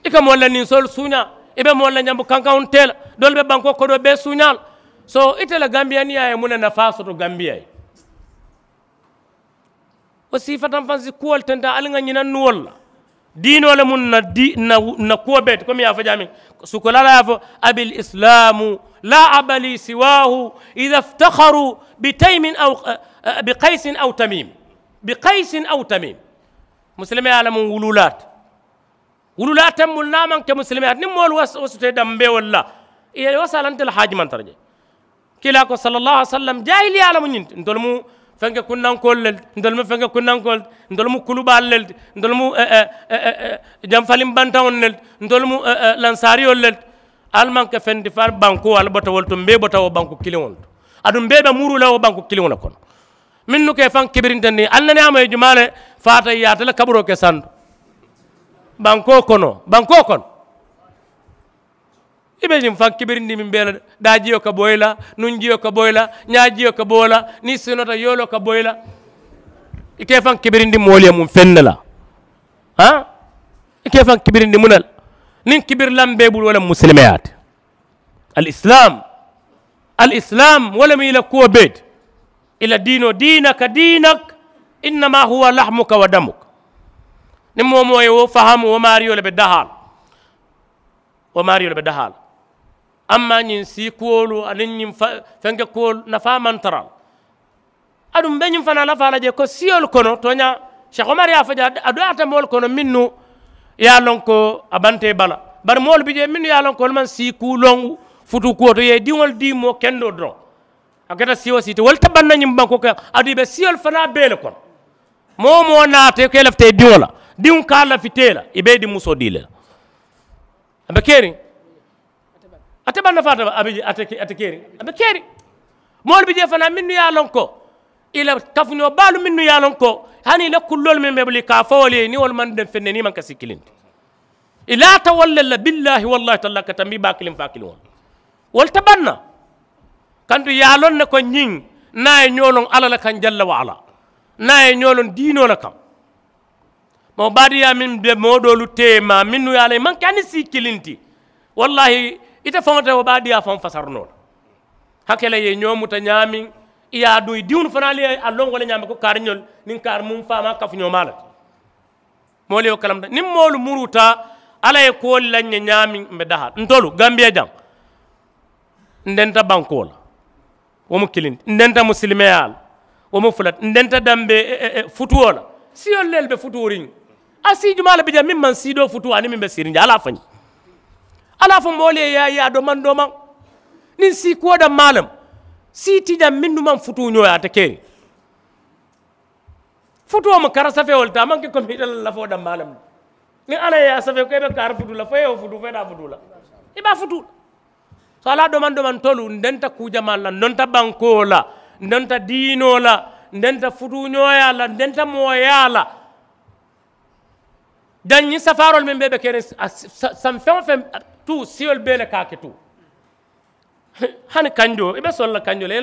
I ka moolu la ninsoolu suuñaa. I be moolu la ñambu kankaŋo tee la. Doolu be bankoo kodoo bee suuñaa la. So ite la gambiyaniyaa ye muŋ ne nafaa soto gambiya ye? Wo siifataŋ faŋ si kuwolu tenta ali ŋa ñinaŋ nuwolu la. Diinoo le muŋ na di na na kuwo bee ti komi ye a fo jaamiŋ. Sukolaa la ye a fo abil islaamu laa abali siwaahu. Ida iftaharu bitaymin aw bikaysin aw tamim. Bikaysin aw tamim. Musilimeyaa le muŋ wuluulaa ti. Wululaa tembulu niŋ a maŋ ke musilimeyaa ti niŋ moolu wasutee dambee wolu la. I ye wasaalante le haaji maŋ tara je. Kiilaa ko sala allahu alih wa sallam jaahiliyaa le mu ñiŋ ti ntolu mu fenke kunnankoolu le ti ntolu mu fenke kunnankoolu ti ntolu mu kulubaalu le ti ntolu mu janfaliŋ bantaŋolu le ti ntolu mu lansaariyolu le ti. Ali maŋ ke feŋ ti fo ali bankoo ali bota wo le to m̀ bee bota wo banku kiliŋo le to. Aduŋ m̀ bee be muruu la wo banku kiliŋo le kono. Mennu ka i faŋ kibirintandi ali nene a ma ye jumaa le faata i ye ate la kaburoo ke santo. Bankoo kono bankoo kono. I be ñiŋ faŋ kibirindi meŋ bee la daajiyo ka bo i la nunjiyo ka bo i la ñaajiyo ka bo i la niŋ i sinota yooloo ka bo i la. I ka i faŋ kibirindi moolu ye muŋ feŋ ne la? Haa i ka i faŋ kibirindi muŋ ne la? Niŋ kibirilaŋ bee bulu wo le mu musilimeyaa ti. Alisilaam alisilaam wo le mu i la kuwo bee ti. I la diinoo diinaka diinak. Innama huwa lahmuka wa damuk. Niŋ moo moo ye wo fahamu wo maariyo le be dahaa la. Wo maariyo le be dahaa la. Amma ñiŋ sii kuwolu aniŋ ñiŋ fenke kuwolu nafaa maŋ tara a la. Aduŋ m̀ be ñiŋ fanaa lafaa la jee ko siyolu kono tooñaa. Seeku omari ye a fo jee a doyaata moolu kono mennu ye a loŋ ko a banta i bala. Bari moolu bi jee mennu ye a loŋ ko wolu maŋ sii kuu loŋ futuu kuwo to i ye i diŋolu dii moo kendoo doroŋ. A keta siyo sii ti wolu te baŋ na ñiŋ bankoo kaŋ. Aduŋ i be siyolu fanaa bee le kono. Moo-wo-moo naata i ko i lafita i diŋo la diŋo ka a lafita i la i be i diŋ musoo dii le la. A be keeriŋ. Ate baŋ na faata a be a te keeriŋ a be keeriŋ. Moolu bi jee fanaa mennu ye a loŋ ko i la kafuñoo baalu mennu ye a loŋ ko hani i la kulloolu meŋ be bulu i ka a fo wolu ye niŋ wolu maŋ deŋ feŋ ne niŋ i maŋ ka sii kiliŋ ti. I laata wolu le la billaahi wallaahi tallaahi ka tambi baa kiliŋ faa kiliŋo la. Wolu te baŋ na. Kantu i ye a loŋ ne ko ñiŋ niŋ a ye ñoo loŋ alla le kaŋ jalla wa alla niŋ a ye ñoo loŋ diinoo le kaŋ. Moo baadiyaa meŋ be moo doolu teema mennu ye a la i maŋ ke a ni sii kiliŋ ti. Wallaahi ite faŋo te wo baadiyaa faŋo fasari noo la. Hake la i ye ñoo muta ñaameŋ i ye a duŋ i diŋolu fanaa le ye a loŋ wo le ñaama ko kaariñolu niŋ kaari muŋ faamaa kafuñoo maa le ti. Moolu ye wo kalamta niŋ moolu muruuta alla ye kuwolu la ñe ñaameŋ m̀ be dahaa la ntolu gambiya jaŋ. N denta bankoo la. Wo mu kiliŋ ti n denta musilimeyaa la. Wo mu fula ti n denta dambe futuwoo la. Siyolu lelu be futuuriŋ. A sii jumaa le bi jee meŋ maŋ sii doo futuu aniŋ meŋ be siiriŋ jee alla a fo ñiŋ. Alla a fo moolu ye yaa yaa doomaŋ doomaŋ. Niŋ sii kuwo dammaa le mu sii ti jaŋ mennu maŋ futuu ñoo ye a te keeriŋ. Futuo mu kara safewo le ti a maŋ ke komi ite la lafoo dammaa le mu. Niŋ alla ye a safee ko i be kaari futuu la fo i ye wo futuu fo i daa futuu la i be a futuu la. So alla domaŋ domaŋ tolu n denta kuu jamaa la n donta bankoo la n donta diinoo la n denta futuuñooyaa la n denta mooyaa la. Jaŋ ñiŋ safaaroolu meŋ bee be keriŋ saŋ feŋ wo feŋ tuu siyolu bee le ka a ke tuu. Hani kanjoo i be sola la kanjoo le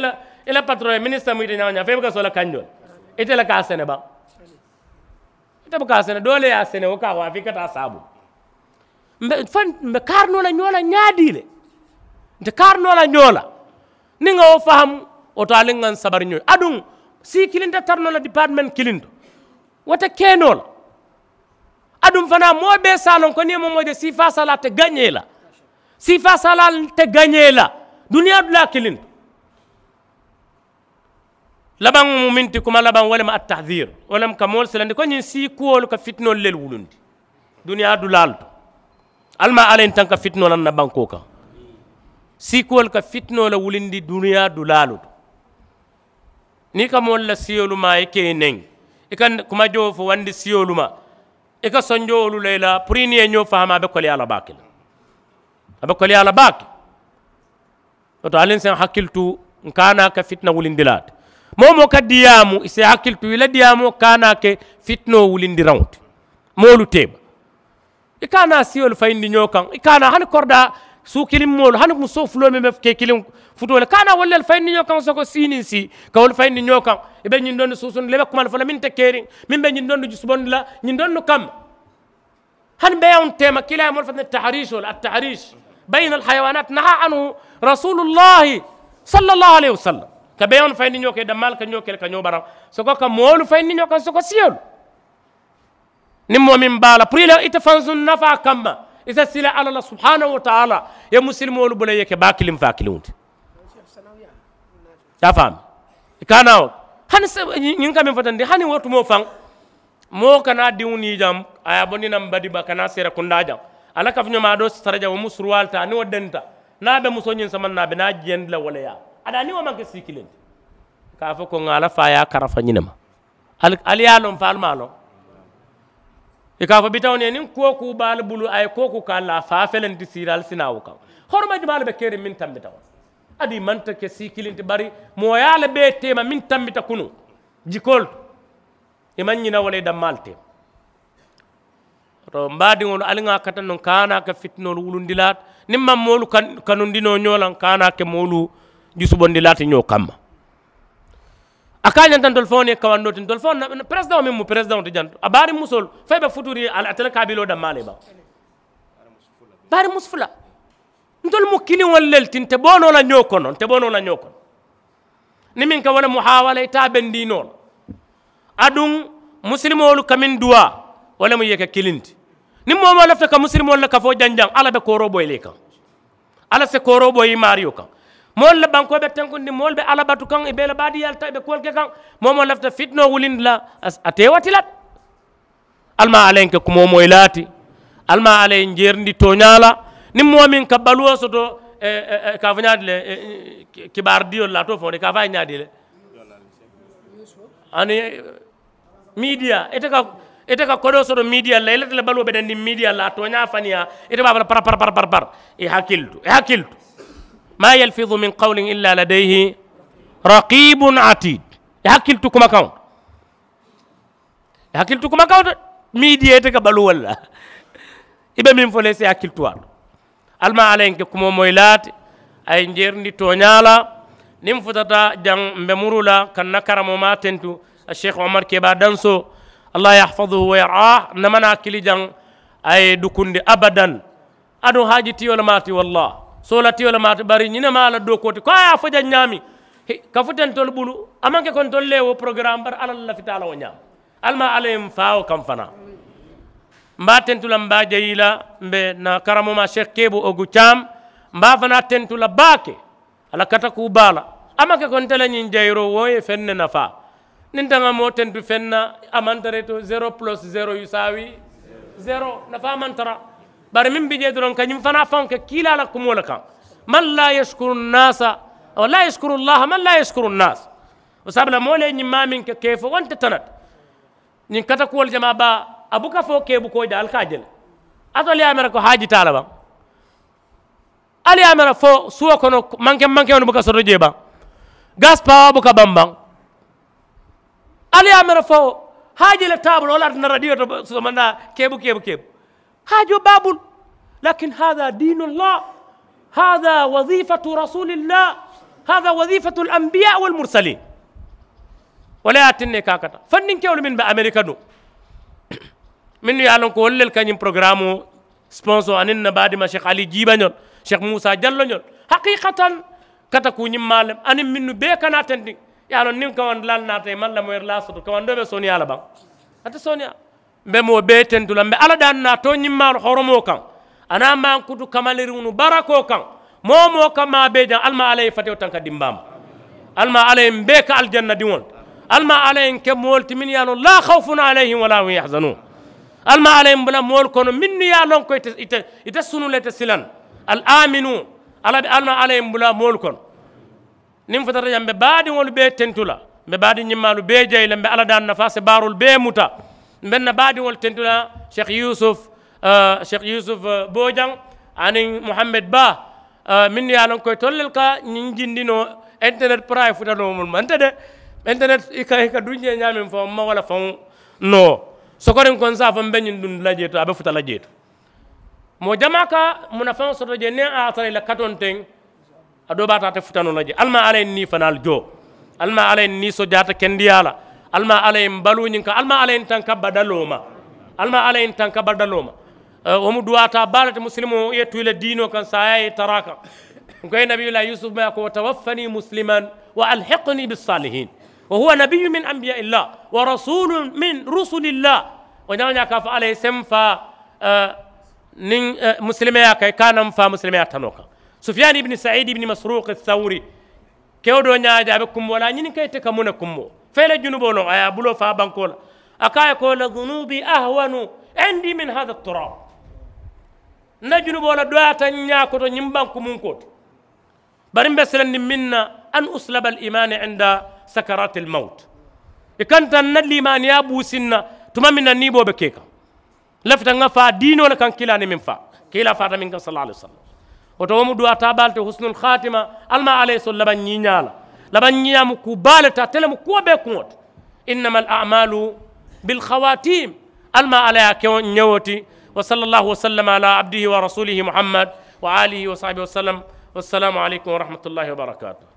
i la patoroŋ ye minisita mu ite ñaŋ ñaŋ fo i buka sola kanjoo le ite le ka a sene baŋ. Ite buka a sene doo le ye a sene wo ka a waafi i ka taa saabu. Mbe fo mbe kaarinoo la ñoo la ñaadii le. Nte kaarinoo la ñoo la niŋ ŋa wo fahamu. Wo to ali ŋa n sabari ñoo ye aduŋ sii kilinta tarinoo la dipaatimenti kilinto. Wo te keenoo la. Aduŋ fanaa moo bee se a loŋ ko niŋ ye moo moo je siifaa saalaa te gañee la. Siifaa saalaa te gañee la duniyaa dulaa kiliŋ to. Labaŋo mu minti kuma labaŋ wo le mu attahdir wo le mu ka moolu silandi ko ñiŋ sii kuwoolu ka fitinoolu lelu wulundi. Duniyaa dulaalu to ali maa alla ye n taŋ ka fitinoo la n na bankoo kaŋ. Sii kuwoolu ka fitinoo le wulundi duniyaa dulaalu to. Niŋ i ka moolu la siyolu maa i ke i neŋ i ka kuma jowo fo wandi siyolu ma. I ka sonjowolu la i la puru i niŋ i ye ñoo fahama a be koleyaa la baake le. A be koleyaa la baake. Wo to ali n seŋ hakkili tu n ka a naa ke fitina wulindilaa ti. Moo moo ka diyaamu i si hakkili tu i la diyaamoo ka a naa ke fitinoo wulindiraŋo ti. Moolu teema. I ka a naa siyolu fayindi ñoo kaŋ i ka a naa hani koridaa suu kiliŋ moolu hani musoo fuloo meŋ be ke kiliŋ futoo le ka a naa wolu le fayindi ñoo kaŋ soko sii niŋ sii ka wolu fayindi ñoo kaŋ. I be ñiŋ dondi suusundi le i be kuma le fo la meŋ te keeriŋ meŋ be ñiŋ dondi jusubondi la ñiŋ dondi kamma. Hani beyaŋo teema kiilaa ye moolu fo te tahariisoo le attahariis bayna alhayawanat naha anu rasulullahi sallallahu alayhi wasallam. Ka beyaŋo fayindi ñoo ke dammaalu ka ñoo ke le ka ñoo baraŋ soko ka moolu fayindi ñoo kaŋ soko siyolu. Niŋ moo meŋ be a la puru i la ite fansuŋ nafaa kamma i si sila alla la subhanahu wa taala. Ye musilimoolu bula i ye ke baa kiliŋ faa kiliŋo ti. Ye a faamu i ka a naa wo hani ñiŋ ka meŋ fotandi hani wo tumoo faŋ. Moo kana diŋo nii jaŋ a ye a bondi naŋ badiba kana seera kundaa jaŋ. A la kafuñomaa doo si tara jaŋ wo mu suruwaalu taa niŋ wo denta niŋ a be musoo ñiŋ samaŋ na a be naa jiyandi la wo le yaa. A daa niŋ wo maŋ ke sii kiliŋ ti ka a fo ko ŋa a la faa ye a karafa ñinema. Ali ye a loŋ faalu maa loŋ. I ka a fo bitaŋo niŋ ye niŋ kuwo kuu be ali bulu a ye kuwo kuu ka ali la a faa felenti siiri ali si naa wo kaŋ. Horoma jumaalu be keriŋ meŋ tambita wo. Aduŋ i maŋ te ke sii kiliŋ ti bari mooyaa le bee teema meŋ tambita kunuŋ. Jikoolu to i maŋ ñina wo le i dammaalu teema. Woto mbaadiŋolu ali ŋa a kata nuŋ ka a naa ka fitinoolu wulundilaa ti niŋ maŋ moolu kanundinoo ñoo la ka a naa ke moolu jusubondilaa ti ñoo kamma. A ka a ñanta ntolu faŋo niŋ kawandoo ti ntolu faŋo peresidaŋo meŋ mu peresidaŋo ti janto a baariŋ musoolu fo i be futuuri ye ate le kaabiloo dammaa le baŋ. Baariŋ musu fula ntolu mu kiliŋolu le ti nte boonoo la ñoo kono nte boonoo la ñoo kono. Niŋ meŋ ka wo le muhaawala i taa bendiinoo la. Aduŋ musilimoolu ka meŋ duwaa wo le mu ye ke kiliŋ ti. Niŋ moo moo lafita ka musilimoolu la kafoo janjaŋ alla be kooroo boyi le i kaŋ. Alla si kooroo boyi i maariyo kaŋ. Moolu la bankoo be tenkundiŋ moolu be alla batu kaŋ i be i la baadiyaa le taa i be kuwolu ke kaŋ. Moo moo lafita fitinoo wulindi la a te i wati la. Alla maŋ alla ye n ke kumoo moyi laati. Alla maŋ alla ye n jeerindi tooñaa la. Niŋ moo meŋ ka baluwo soto ka a fo ñaadi le kibaari diyolu la a to fo de ka a fo a ye ñaadi le. Ani miidiya ite ka ite ka kodoo soto miidiya la i la te le baluwo be dendiŋ miidiya la a tooñaa faniyaa ite be a fo la par par par par par. I hakili tu i hakili tu. Ma yalfidu min qawlin illa ladayhi raqibun atid. I hakili tu kumakaŋo. Hakili tu kumakaŋo to. Miidiya ite ka baluu walla i be meŋ fo le i si hakili tu a to. Alla maŋ alla ye n ke kumoo moyi laati. A ye n jeerindi tooñaa la. Niŋ futata jaŋ mbe muru la ka n na karamoo maa tentu. Sheikh omar keba danso. Allah yahfaduhu wa yarah n na manaa kili jaŋ. A ye dukundi abadan. Aduŋ haaji tiyo le maati walla soola tiyo le maati bari ñiŋ ne maa la dookoo ti ko a ye a fo jaŋ ñaami. Kafu te ntolu bulu a maŋ ke ko ntolu le ye wo porogaramu bari alla le lafita a la wo ñaama. Alla maŋ alla ye m faa wo kaŋ fanaa. M be a tentu la m be a jayi la. M be na karamoo maa sheikh keebu ogu caam. M be a fanaa tentu la baake. A la katakuu baa la. A maŋ ke ko nte la ñiŋ jayiroo wo ye feŋ ne nafaa. Niŋ nte ŋa moo tentu feŋ na a maŋ tara i to zero plus zero yusawi zero nafaa maŋ tara. Bari meŋ bi jee doroŋ ka ñiŋ fanaa faŋo ke kiilaa la kumoo le kaŋ. Man la yashkuru nnasa wa la yashkuru llaha man la yashkuru nnas. Wo sabu la moo le ye ñiŋ maa meŋ ke ka i fo wo nte tanat. Ñiŋ katakuwolu jamaa baa A buka fo keebu ko je ali ka a je le. Ate ali ye a mera ko haaji taa la baŋ? Ali ye a mera fo suwo kono manke mankeŋolu buka soto jee baŋ? Gas pawa buka baŋ baŋ? Ali ye a mera fo haaji le taabulu wo le a tinna radiyo to somandaa keebu keebu keebu. Haajo baabul. Lakin hada diinu allah. Hada wazifatu rasulillah. Hada wazifatu alambiya walmursalin. Wo le ye a tinna i ka a kata fanninkewolu mennu be amerika duŋ, mennu ye a loŋ ko wolu le ka ñiŋ porogaramoo sponsor aniŋ na baadima sheikh ali jiibañol, sheikh muusa jalloñol, haqiikatan kata kuu ñiŋ maa lem aniŋ mennu bee kana tentiŋ. Ye a loŋ niŋ kawandilaalu naata i maŋ lamoyiri laa soto kawandoo be sooneyaa la baŋ? Ate sooneyaa. Mbe moo bee tentu la mbe alla daaŋ na a too ñiŋ maalu horomoo kaŋ. A naa maŋ kutu kamaliriŋolu barakoo kaŋ. Moo moo ka maa bee jaŋ alla maŋ alla ye i fatewo tanka dimbaa ma. Alla maŋ alla ye mbe ka aljanna diŋolu. Alla maŋ alla ye nke moolu ti mennu ye a loŋ laa hawfun alayhim wala hum yahzanun. Alla maŋ alla ye mbula moolu kono mennu ye a loŋ ko ite ite ite sunu le ite silaŋ. Al aminu. Alla be alla maŋ alla ye mbula moolu kono. Niŋ futata jaŋ mbe baadiŋolu bee tentu la. Mbe baadiŋ ñimmaalu bee jayi la mbe alla daaŋ na faa se baaroolu bee muta. Mbe n na baadiŋolu tentu la sheikh yusuf, sheikh yusuf boojaŋ aniŋ muhammed baa. Mennu ye a loŋ ko itolu le ka ñiŋ jindi noo internet pura ye futa noo mulu ma nte de. Internet i ka i ka duŋ jee ñaameŋ faŋo m ma wo le faŋo noo. Sokoriŋ ko n se a fo m be ñiŋ dundi la jee to a be futa la jee to. Moo jamaa ka munafaŋo soto jee niŋ a ye a tara i la katoŋ teŋ. A doo be a taa te futa noo la jee alla maŋ alla ye n nii fanaalu joo. Alla maŋ alla ye n nii sojaata kendiyaa la. Alla maŋ alla ye n baluu ñiŋ kaŋ alla maŋ alla ye n tanka badaloo ma. Alla maŋ alla ye n tanka badaloo ma. Wo mu duwaataa baa le ti musilimoo ye tu i la diinoo kaŋ saayaa ye i tara a kaŋ. N ko ye nabiyullah yusuf ma ye a ko wa tawaffani musliman wa alhiqni bisalihin. Wa huwa nabiyu min anbiya illah wa rasulu min rusulillah. Wo ñaŋ wo ñaa ka a fo alla ye seŋ faa niŋ musilimeyaa kaŋ i ka a naŋ faa musilimeyaa tanoo kaŋ. Sufiyani ibini saidi ibini masruki sawuri. Kewo doo ñaa je a be kummoo la a ñininka ite ka muŋ ne kummoo fo i la junuboo loŋ a ye a buloo faa bankoo la. A ko a ye ko la zunubi ahwanu indi min hada turab. N na junuboo la doyaata n ñaa koto ñiŋ bankumunkoo to. Bari m be silandiŋ meŋ na an uslaba al imani inda sakarati al mawt. I kanta n na liimaaniyaa buusiŋ na tuma meŋ na niiboo be ke kaŋ. Lafita ŋa faa diinoo le kaŋ kiilaa ni meŋ faa kiilaa faata meŋ kaŋ sala alai wasallam. Wo to wo mu duwaa taa baa le ti husnul khatima. Alla maŋ alla ye soŋ labaŋ ñiiñaa la. Labaŋ ñiiñaa mu kuu baa le ti ate le mu kuwo bee kuŋo ti. Innama al amalu bil khawatim. Alla maŋ alla ye a ke wo ñewo ti. Wa sala allahu wasallam ala abdihi wa rasulihi muhammad wa alihi wa sahbihi wasallam. Wassalaamu alaykum wa rahmatullahi wa barakatuh.